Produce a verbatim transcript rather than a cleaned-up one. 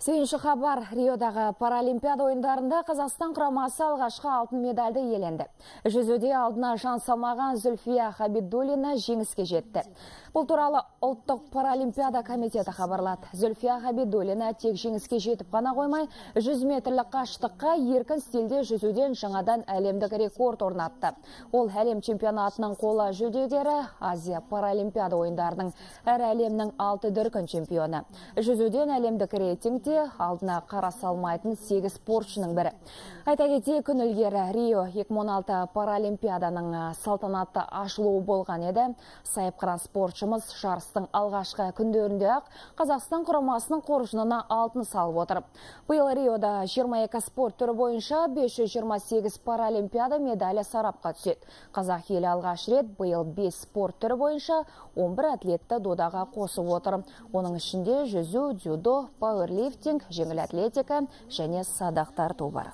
Сүйінші хабар, Риодағы паралимпиада ойындарында Қазақстан құрамасы алғашқы алтын медальды иеленді. Жүзуде алдына жан салмаған Зүлфия Хабидуллина жеңіске жетті. Бұл туралы ұлттық паралимпиада комитеті хабарлады. Зүлфия Хабидуллина тек жеңіске жетіп қана қоймай, жүз метрлік қашықтыққа еркін стильде жүзуден жаңадан әлемдік рекорд орнатты. Ол әлем чемпионатының қола жүлдегері, Азия паралимпиада ойындарының әр әлемнің алты дүркін чемпионы. Жүзуден әлемдік рейтингте алдына қара салмайтын сегіз спортшының бірі. Айта кетейік, күн ілгері Рио екі мың он алты паралимпиаданың салтанатты ашылуы болған еді. Сайыпқыран спортшымыз жарыстың алғашқы күндерінде ақ Қазақстан құрамасының қоржынына алтын салып отыр. Биыл Риода жиырма екі спорт түрі бойынша бес жүз жиырма сегіз паралимпиада медалі сарапқа түседі. Қазақ елі алғаш рет биыл бес спорт түрі бойынша он бір атлетті додаға қосып отыр. Оның ішінде жүзу, дзюдо, пауэрлифтинг, жеңіл атлетика және садақтар тобы бар.